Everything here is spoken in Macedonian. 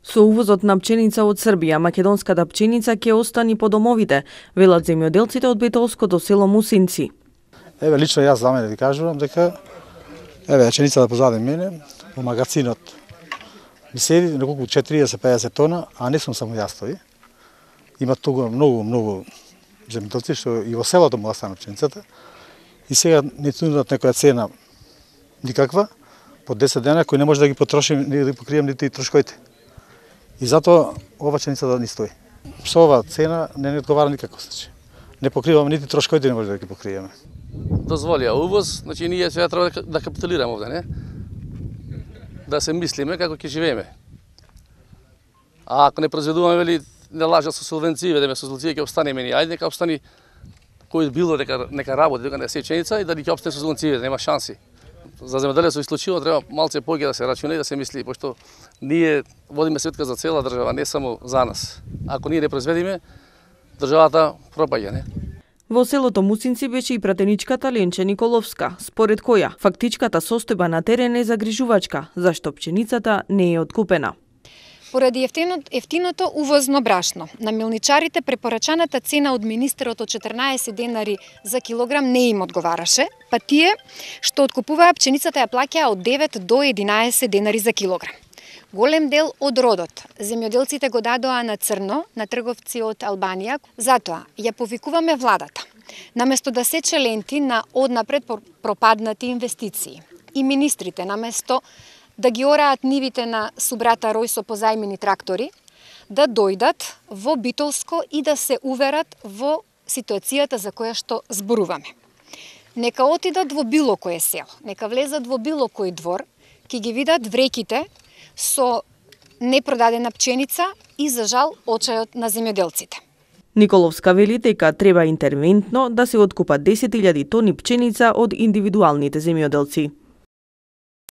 Со увозот на пченица од Србија, македонската пченица ќе остани по домовите, велат земјоделците од битолското село Мусинци. Еве лично јас за мене ви кажувам дека пченицата позади мене во магазинот ми седи неколку 40-50 тона, а не сум само јас тој. Има тука многу земјоделци што и во селото му остана пченицата. И сега не нудат некоја цена никаква по 10 дена кој не може да ги потроши, не да покрием нити и трошковите. И затоа ова пченица да ни стои. Со ова цена не одговара никако случај. Не покриваме нити трошковите, не може да ги покриеме. Дозволија увоз, значи ние сега треба да капитулираме овде, не? Да се мислиме како ќе живееме. А ако не произведуваме, вели, не лажа со субвенции, ведеме со субвенции ќе обстанеме ни. Ајде нека обстани кој било нека работи, дека не се пченица и да ни ќе обстане со субвенции, нема шанси. За земјоделецот исклучиво треба малце поќе да се рачуна и да се мисли, пошто ние водиме сметка за цела држава, не само за нас. Ако ние не произведиме, државата пропаѓа, не? Во селото Мусинци беше и пратеничката Ленче Николовска, според која фактичката состојба на терен е загрижувачка, зашто пченицата не е откупена. Поради ефтиното увозно брашно, на милничарите препорачаната цена од министерот од 14 денари за килограм не им одговараше, па тие што откупуваа пченицата ја плаќаа од 9 до 11 денари за килограм. Голем дел од родот земјоделците го дадоа на црно на трговци од Албанија, затоа ја повикуваме владата. Наместо да сече ленти на однапред пропаднати инвестиции и министрите наместо да ги ораат нивите на субрата Рој со позајмени трактори, да дојдат во Битолско и да се уверат во ситуацијата за која што зборуваме. Нека отидат во било кое село, нека влезат во било кој двор, ќе ги видат вреките со непродадена пченица и за жал очајот на земјоделците. Николовска вели дека треба интервентно да се откупат 10.000 тони пченица од индивидуалните земјоделци.